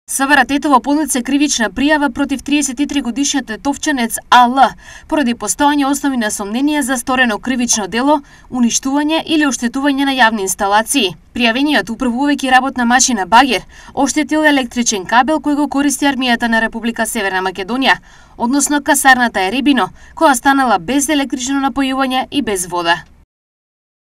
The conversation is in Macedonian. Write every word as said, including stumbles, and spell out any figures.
СВР Тетово поднесе кривична пријава против триесет и три годишниот тетовчанец А Л поради постоење основи на сомнение за сторено кривично дело, уништување или оштетување на јавни инсталации. Пријавениот управувајќи работна машина багер оштетил електричен кабел кој го користи армијата на Република Северна Македонија, односно касарната Еребино, која станала без електрично напојување и без вода.